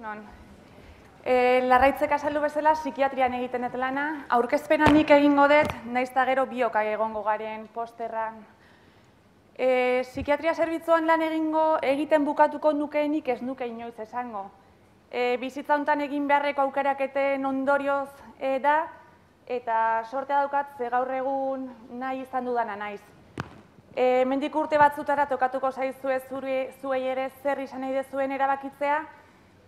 Egunon. Larraitzek azaldu bezala psikiatrian egiten dut lana, aurkezpena nik egingo dut, nahiz eta gero biok egongo garen posterran. Psikiatria zerbitzuan lan egiten bukatuko nukeenik ez nuke inoiz esango. Bizitza honetan egin beharreko aukeraketen ondorioz da, eta sortea daukat ze gaur egun nahi izan dudana naiz. Hemendik urte batzutara tokatuko zaizue zuei ere zer izan nahi dezuen erabakitzea,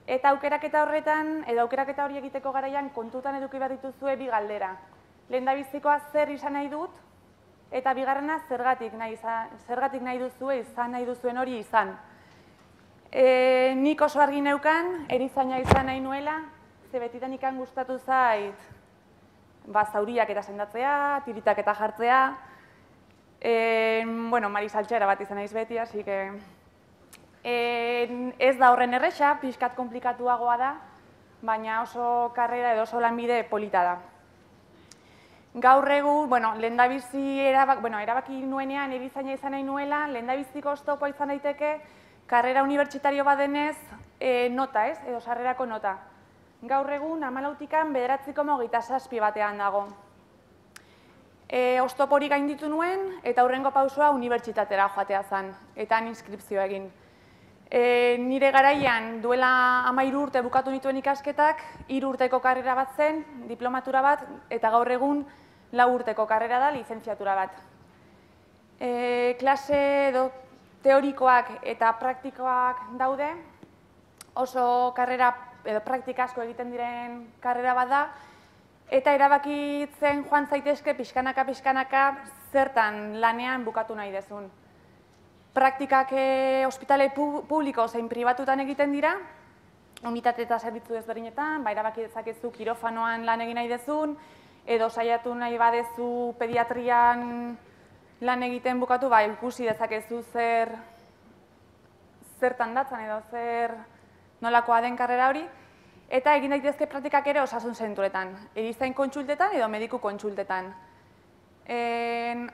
eta aukeraketa horretan, edo aukeraketa hori egiteko garaian kontutan eduki behar dituzue bi galdera. Lehendabizikoa zer izan nahi dut, eta bigarrena zergatik nahi duzue izan nahi duzuen hori izan. Nik oso argi neukan, erizaina izan nahi nuela, ze betitan ikan gustatu zait, zauriak eta sendatzea, tiritak eta jartzea, marisaltxera bat izan naiz beti, así que ez da horren erresa, pixkat komplikatuagoa da, baina oso karrera edo oso lanbide polita da. Gaur egun, lehendabizi erabaki nuenean erizaina izan nahi nuela, lehendabiziko oztopoa izan daiteke, karrera unibertsitario badenez nota, edo sarrerako nota. Gaur egun 14tikan 9,27 batean dago. Oztopori gainditu nuen, eta hurrengo pausua unibertsitatera joatea zen, eta inskripzioa egin. Nire garaian duela 13 urte bukatu nituen ikasketak, 3 urteko karrera bat zen, diplomatura bat, eta gaur egun 4 urteko karrera da, lizentziatura bat. Klase teorikoak eta praktikoak daude, oso karrera edo praktika asko egiten diren karrera bat da, eta erabakitzen joan zaitezke pixkanaka zertan lanean bukatu nahi dezun. Praktikak ospitale publiko zein pribatutan egiten dira, unitate eta zerbitzu ezberdinetan, erabaki dezakezu kirofanoan lan egin nahi dezun, edo saiatu nahi badezu pediatrian lan egiten bukatu, ikusi dezakezu zertan datzan edo nolakoa den karrera hori, eta egin daitezke praktikak ere osasun zentroetan, erizain kontsultetan edo mediku kontsultetan.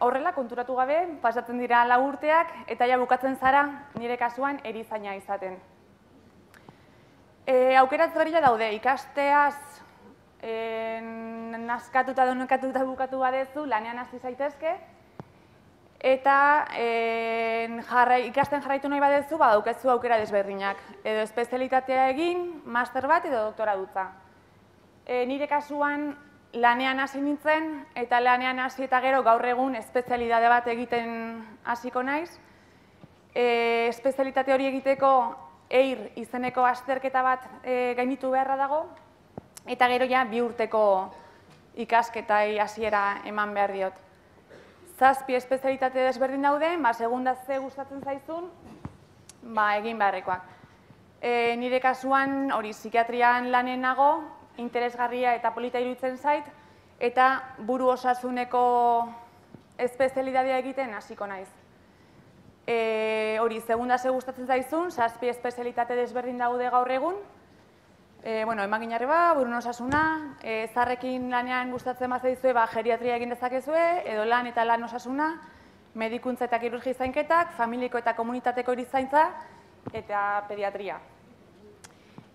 Horrela, konturatu gabe, pasatzen dira 4 urteak, eta ja bukatzen zara, nire kasuan, erizaina izaten. Aukera ezberdina daude, ikasteaz naskatuta donekatuta bukatu badezu, lanean hasi zaitezke, eta ikasten jarraitu nahi badezu, badaukezu aukera desberdinak. Edo espezialitatea egin, master bat edo doktora dutza. Nire kasuan lanean hasi nintzen, eta lanean hasi eta gero gaur egun espezialitate bat egiten hasiko naiz. Espezialitate hori egiteko EIR izeneko azterketa bat gainditu beharra dago, eta gero ja 2 urteko ikasketai hasiera eman behar diot. 7 espezialitate desberdin daude, segunda ze gustatzen zaizun, egin beharrekoak. Nire kasuan hori psikiatrian lanen nago, interesgarria eta polita iruditzen zait, eta buru osasuneko espezialitatea egiten hasiko naiz. Hori, segunda ze gustatzen zaizun, 7 espezialitate desberdin daude gaur egun, emaginarreba, burun osasuna, zaharrekin lanean gustatzen bazaizue, geriatria egin dezakezue, edo lan eta lan osasuna, medikuntza eta kirurgia zainketak, familiko eta komunitateko erizaintza, eta pediatria.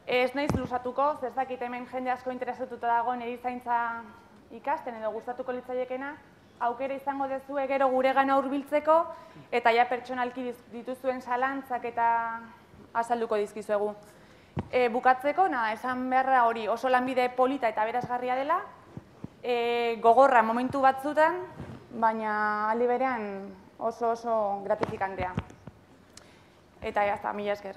Ez naiz luzatuko, ez dakit hemen jende asko interesatuta dagoen erizaintza ikasten edo gustatuko litzaiekena, aukera izango dezue gero guregana hurbiltzeko, eta ja pertsonalki dituzuen zalantzak eta azalduko dizkizuegu. Bukatzeko, esan beharra hori oso lanbide polita eta aberasgarria dela, gogorra momentu batzutan, baina aldi berean oso gratifikantea. Eta mila esker.